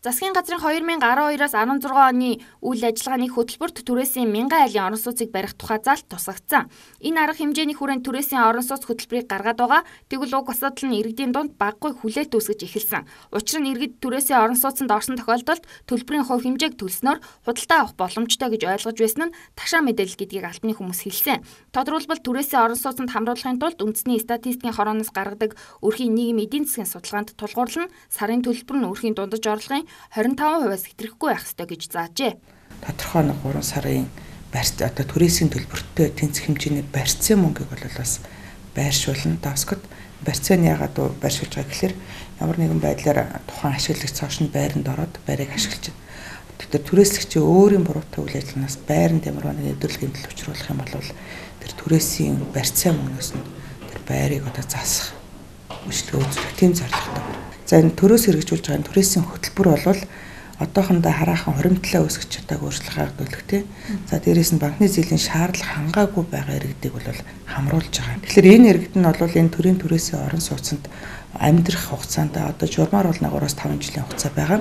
Засгийн газрын 2012-аас 16 оны үйл ажиллагааны хөтөлбөрт түрээсийн 1000 айлын орон сууцыг барих тухай заалт тусгагдсан. Энэ арга хэмжээний хүрээнд түрээсийн орон сууц хөтөлбөрийг гаргаад байгаа. Тэгвэл уг асуудал нь иргэдийн дунд баггүй хүлээлт үүсгэж эхэлсэн. Учир нь иргэд түрээсийн орон сууцанд орсон тохиолдолд төлбөрийн хувь хэмжээг төлснөөр худалдаа авах боломжтой гэж ойлгож байсан нь ташаа мэдээлэл гэдгийг албаны хүмүүс хэлсэн. Тодорхойлбол түрээсийн орон сууцанд хамруулахын тулд үндэсний статистикийн хорооноос гаргадаг өрхийн нийгмийн эдийн засгийн судалгаанд тулгуурлан сарын төлбөр нь өрхийн дундаж орлогын 25%-аас хэтрэхгүй байх ёстой гэж заажээ. Тодорхой нэг 3 сарын одоо түрээсийн төлбөртөө тэнцэх хэмжээний барьцсан мөнгийг бол бас байршуулна. Тасгад барьцааны ягаад байршуулж байгаа гэхээр ямар нэгэн байдлаар тухайн ашиглагч цааш нь байранд ороод байрыг ашиглаж байна. Тэгэхээр түрээслэгчийн өөрийн буруутай үйл ажиллагаанаас байранд ямар нэгэн өдөрлөгийн төлөв учруулах юм бол тэр түрээсийн барьцсан мөнгнөөс нь тэр байрыг одоо засах үйлчлэг үзүүлэх тийм зорилготой. За энэ төрөөс хэрэгжүүлж байгаа түрээсийн хөтөлбөр бол одоохондоо хараахан хуримтлаа үүсгэж чадаагүй өөрчлөлт гаргадуулах тийм. За дээрээс нь банкны зээлийн шаардлага хангаагүй байгаа иргэдийг бол хамруулж байгаа. Тэгэхээр энэ иргэд нь бол энэ төрийн түрээсийн орон сууцнд амьдрах хугацаанд одоо журмаар бол 3-5 жилийн хугацаа байгаа.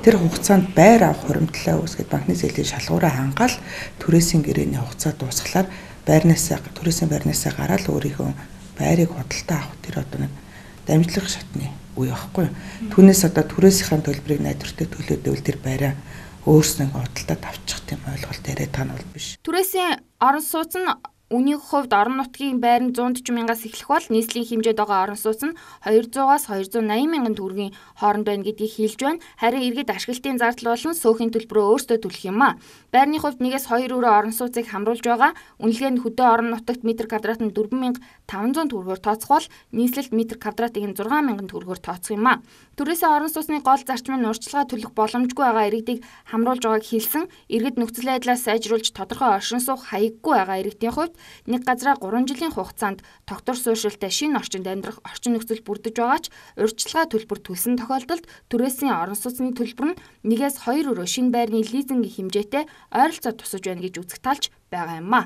Тэр хугацаанд байр авах хуримтлаа үүсгээд банкны зээлийн шалгуураа хангаал түрээсийн гэрээний хугацаа дуусгалаар түрээсийн байрнаасаа гараад өөрийнхөө байрыг худалдаа авах тэр одоо нэг дамжлах шатны үе байхгүй. Түүнээс одоо түрээсийн төлбөрийг найдвартай төлөөдөл тэр байраа өөрснөө худалдаад авчих тийм ойлголт яриад байгаа нь бол биш. Түрээсийн орон сууц нь үнийн хувьд орон нутгийн байр нь 140 мянгаас эхлэх бол нийслэлийн хэмжээд байгаа орон сууц нь 200-аас 280 мянган төгрөгийн хооронд байна гэдгийг хэлж байна. Харин иргэд ашиглалтын зардал болон сөөхийн төлбөрөө өөрсдөө төлөх юм а. Байрны хувьд 1-2 өрөө орон сууцыг хамруулж байгаа. Үнэлгээ нь хөдөө орон нутагт метр квадрат нь 4500 төгрөгөөр тооцох бол нийслэлд метр квадратыг нь 6000 төгрөгөөр тооцох юм а. Түрээсийн орон сууцны гол зарчим нь урьдчилгаа төлөх боломжгүй байгаа иргэдийг хамруулж байгааг хэлсэн. Иргэд нөхцөл байдлаа сайжруулж тодорхой оршин суух хаяггүй байгаа иргэдийн хувьд нэг газраа 3 жилийн хугацаанд тогтвор суурьшилтай шинэ орчинд амьдрах орчин нөхцөл бүрдэж байгаа ч урьдчилгаа төлбөр төлсөн тохиолдолд түрээсийн орон сууцны төлбөр нь 1-2 өрөө шинэ байрны лизингийн хэмжээтэй ойролцоо тусаж байна гэж үзэх талч байгаа юм а.